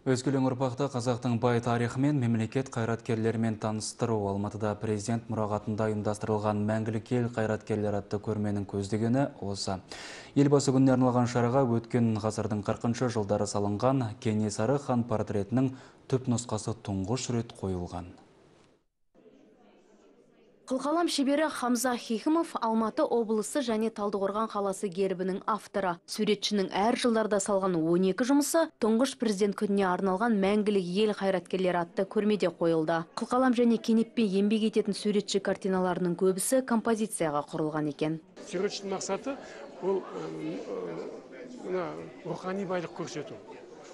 Өскелең ұрпақты қазақтың бай тарихы мен мемлекет қайраткерлерімен таныстыру. Алматыда президент мұрағатында ұйымдастырылған мәңгілік ел қайраткерлер атты көрменің көздегені осы. Елбасы күніне арналған шараға өткен ғасырдың 40 жылдары салынған Кенесары хан портретінің түпнұсқасы тұңғыш рет қойылған. Қылқалам шебері Хамза Хикімов Алматы облысы және Талдықорған қаласы гербінің авторы. Суретшінің әр жылдарда салған 12 жұмысы тұңғыш президент күніне арналған мәңгілік ел қайраткерлері атты көрмеде қойылды. Қылқалам және кенеппен еңбек ететін суретші картиналарының көбісі композицияға құрылған екен. Суретшінің мақсаты ол рухани байлық көрсету.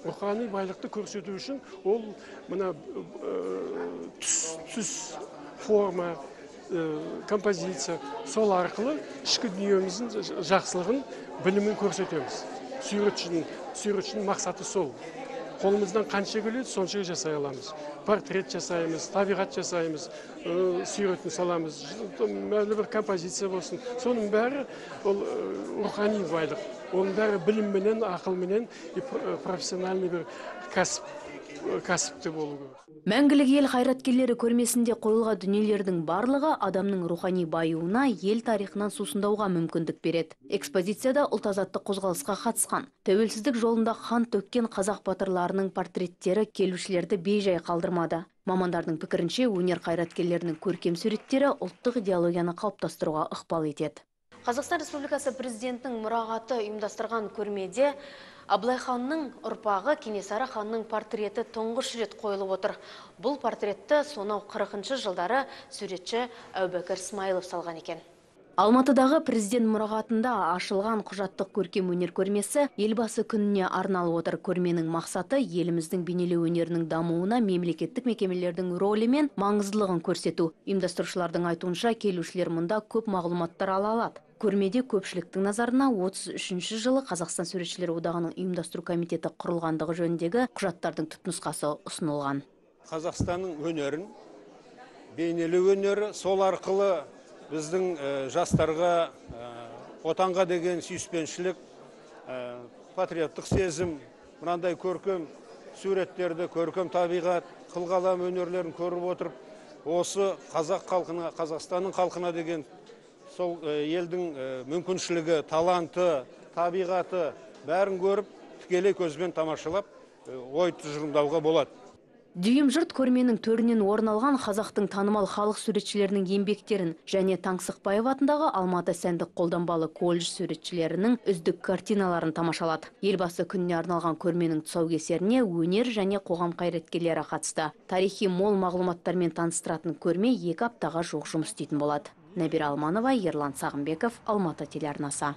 Рухани байлықты көрсету үшін ол түс, форма, композиция, сол арқылы ішкі дүниеміздің жақсылығын, білімін көрсетеміз. Суретшінің мақсаты сол. Қолымыздан қанша келеді, сонша жасай аламыз. Портрет жасаймыз, табиғат жасаймыз, суретін саламыз, мәлі бір композиция болсын. Соның бәрі ол рухани байлық. Оның бәрі білімменен, ақылменен, профессиональный бір кәсіпті болу керек. Мәңгілік ел қайраткерлері көрмесінде қойылған дүниелердің барлығы адамның рухани баюына, ел тарихынан сусындауға мүмкіндік береді. Экспозицияда ұлт-азаттық қозғалысқа қатысқан, тәуелсіздік жолында қан төккен қазақ батырларының портреттері келушілерді бейжай қалдырмады. Мамандардың пікірінше, өнер қайраткерлерінің көркем суреттері ұлттық идеологияны қалыптастыруға ықпал етеді. Қазақстан Республикасы президентінің мұрағаты ұйымдастырған көрмеде Абылай ханның ұрпағы Кенесары ханның портреті тұңғыш рет қойылып отыр. Бұл портретті сонау 40 жылдары суретші Әубәкір Смайылов салған екен. Алматыдағы президент мұрағатында ашылған құжаттық көркем өнер көрмесі елбасы күніне арналып отыр. Көрменің мақсаты еліміздің бейнелеу өнерінің дамуына мемлекеттік мекемелердің рөлі мен маңыздылығын көрсету. Ұйымдастырушылардың айтуынша келушілер мұнда көп мағлұматтар ала алады. Көрмеде көпшіліктің назарына 33 жылы Қазақстан суретшілер одағының ұйымдастыру комитеті құрылғандығы жөніндегі құжаттардың түпнұсқасы ұсынылған. Қазақстанның өнерін, бейнелеу өнері, сол арқылы біздің жастарға отанға деген сүйіспеншілік, патриоттық сезім, мынандай көркем суреттерді, көркем табиғат, қылқалам өнерлерін көріп отырып, осы қазақ халқына, Қазақстанның халқына деген сол елдің мүмкіншілігі, таланты, табиғаты бәрін көріп, тікелей көзбен тамашалап, ой тұжырымдауға болады. Дүйім жұрт көрменің төрінен орын алған қазақтың танымал халық суретшілерінің еңбектерін және Таңсықбаев атындағы Алматы сәндік қолданбалы колледж суретшілерінің үздік картиналарын тамашалады. Елбасы күніне арналған көрменің тұсаукесеріне өнер және қоғам қайраткерлері қатысты. Тарихи мол мағлұматтармен таныстыратын көрме 2 аптаға жуық жұмыс істейтін болады. Нәбира Алманова, Ерлан Сағымбеков, Алматы телеарнасы.